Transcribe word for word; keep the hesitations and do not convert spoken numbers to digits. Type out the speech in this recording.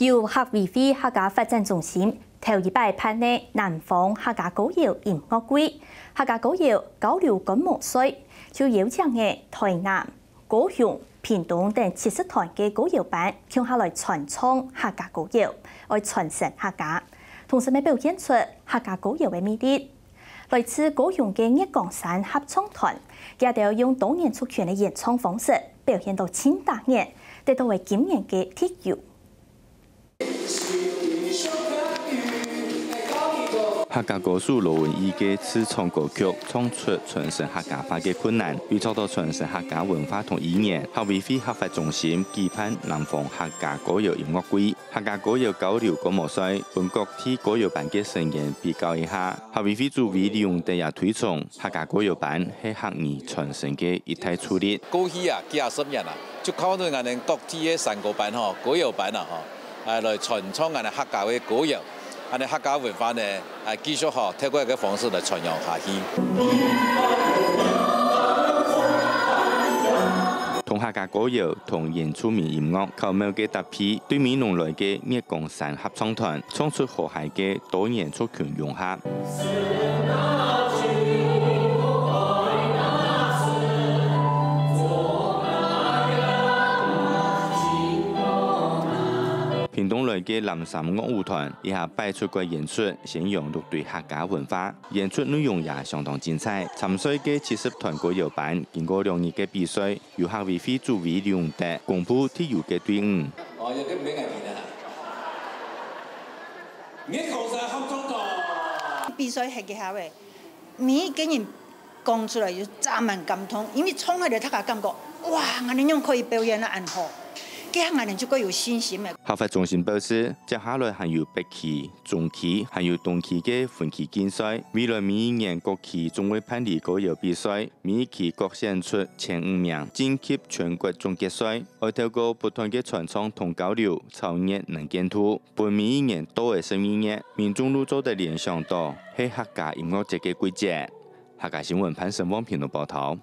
由客委會客家發展中心頭一擺辦个南方客家歌謠音樂季，客家歌謠交流觀摩賽，就邀請了台南、高雄、屏東等七十團个歌謠班共下來傳唱客家歌謠，愛傳承客家，同時乜表現出客家歌謠个魅力。來自高雄个月光山合唱團，佢兜用多元族群个演唱方式表現到盡打眼，得到了今年个特優。 客家歌手羅文義个自創歌曲，唱出傳承客家話个困難。為著到傳承客家文化同語言，客委會客發中心舉辦南方客家歌謠音樂季、客家歌謠交流觀摩賽，分各地歌謠班个成員比較一下。客委會主委李永德也推崇，客家歌謠班係客語傳承个一大助力。過去啊，幾下十年啊，就靠著𠊎等各地个山歌班吼、歌謠班啊吼， 啊，來傳唱𠊎等客家个歌謠，恁呢客家文化呢，啊，繼續吼，透過這个方式來傳揚下去。同客家歌謠同原住民音樂巧妙个搭配，對美濃來个月光山合唱團，唱出和諧个多元族群融合。 屏東來个藍衫樂舞團，這下擺出國演出，宣揚六堆客家文化。演出內容也相當精彩。參賽个七十團歌謠班，經過兩日个比賽，由客委會主委李永德公布特優个隊伍。哦，有个免愛聽的啦。月光山合唱團。比賽係个下尾，每一个人講出來就充滿感動，因為從來就大家感覺，哇，𠊎等樣可以表演得恁好，這下𠊎等就較有信心了。客發中心表示，接下來還有北區、中區，還有東區个分區競賽。未來每一年各區總會辦理歌謠比賽，每一區各選出前五名，晉級全國總決賽。愛透過不斷个傳唱同交流，超越能見度，分每一年到个十二月，民眾都做得聯想到係客家音樂節个季節。客家新聞潘成旺屏東報導。